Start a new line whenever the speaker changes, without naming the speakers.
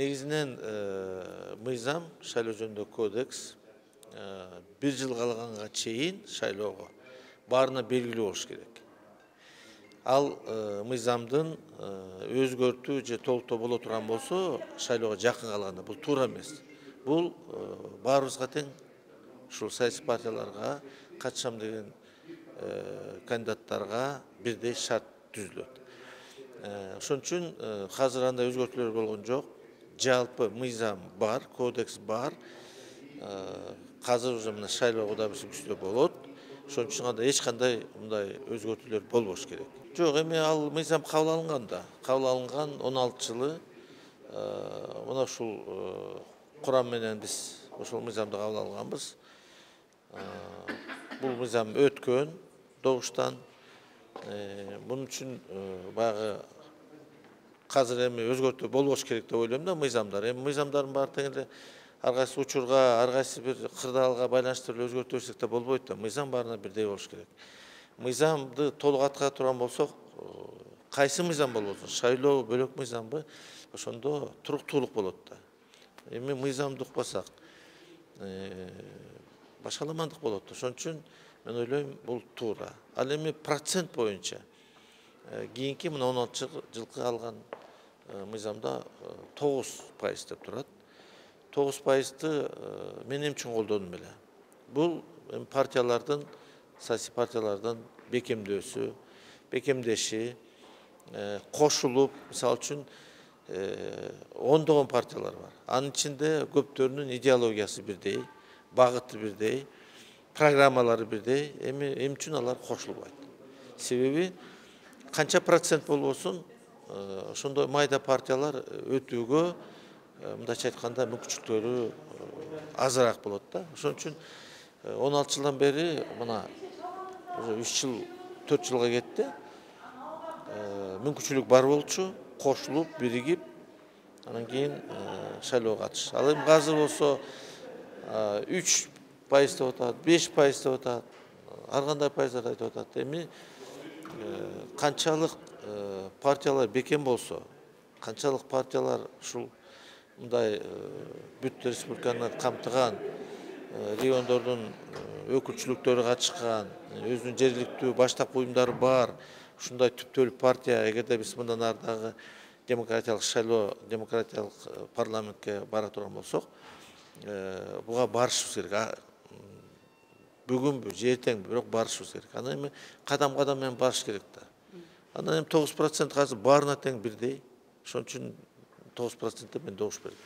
Негизинен мыйзам шайлоо жөнүндөгү кодекс 1 жыл калганга чейин шайлоого баарына белгилүү болуш керек. Ал мыйзамдын өзгөртүү же толуктоо боло турган болсо, шайлоого жакын калганда бул туура эмес. Бул баарыбызга тең, ушул саясий партияларга катышам деген кандидаттарга бирдей шарт түзүлөт. Ошон үчүн азыр андай өзгөртүүлөр болгон жок. Жалпы мыйзам бар, кодекс бар. Азыр уже мына шайлоо Кудай буйрса күздө болот. Ошон үчүн анда эч кандай мындай өзгөртүүлөр болбош керек. Жок, эми ал мыйзам кабыл алынган да. Кабыл алынган 16 жылы мына ушул курам менен биз ошол мыйзамды кабыл алганбыз. Бул мыйзам өткөн добуштан. Мунун үчүн баягы азыр эми өзгөртүү болбош керек деп ойлойм да мыйзамдар. Эми мыйзамдардын баары тең эле ар кайсы учурга, ар кайсы бир кырдаалга байланыштуу эле өзгөртө берсек да болбойт да. Мыйзам баарына бирдей болуш керек. Мыйзамды толук аткара турган болсок, кайсы мыйзам болбосун, шайлоо бөлөк мыйзамбы, ошондо туруктуулук болот да. Эми мыйзамды укпасак, башаламандык болот. Ошон үчүн мен ойлойм бул туура. Ал эми процент боюнча кийинки мына 16 жылкы алган мыйзамда 9% деп турат. 9%ты мен эмне үчүн колдодум эле? Бул партиялардын, саясий партиялардын бекемдеши, кошулуп, мисалы үчүн ондогон партиялар бар. Анын ичинде көптөрүнүн идеологиясы бирдей, багыты бирдей, программалары бирдей. Эми эмне үчүн алар кошулбайт? Себеби канча процент болбосун, ошондой майда партиялар өтүүгө, мындайча айтканда, мүмкүнчүлүктөрү азыраак болот да. Ошон үчүн 16 жылдан бери мына уже 3 жыл, 4 жылга кетти. Мүмкүнчүлүк бар болчу, кошулуп, биригип, анан кийин шайлоого катыш. Ал эми азыр болсо 3% деп атат, 5% деп атат, ар кандай пайыздарды айтып атат. Эми канчалык партиялар бекем болсо, канчалык партиялар ушул мындай бүт республиканы камтыган, региондордун өкүлчүлүктөрү катышкан, өзүнүн жергиликтүү баштапкы уюмдары бар, ушундай түптөлүк партия, эгерде биз мындан ары дагы демократиялык шайлоо, демократиялык парламентке бара турган болсок, буга барышыбыз керек. Бүгүнбү, же эртеңби, бирок барышыбыз керек. Анан эми кадам менен барыш керек да. Анан эми 9% азыр баарына тең бирдей. Ошон үчүн 9% мен добуш бердим.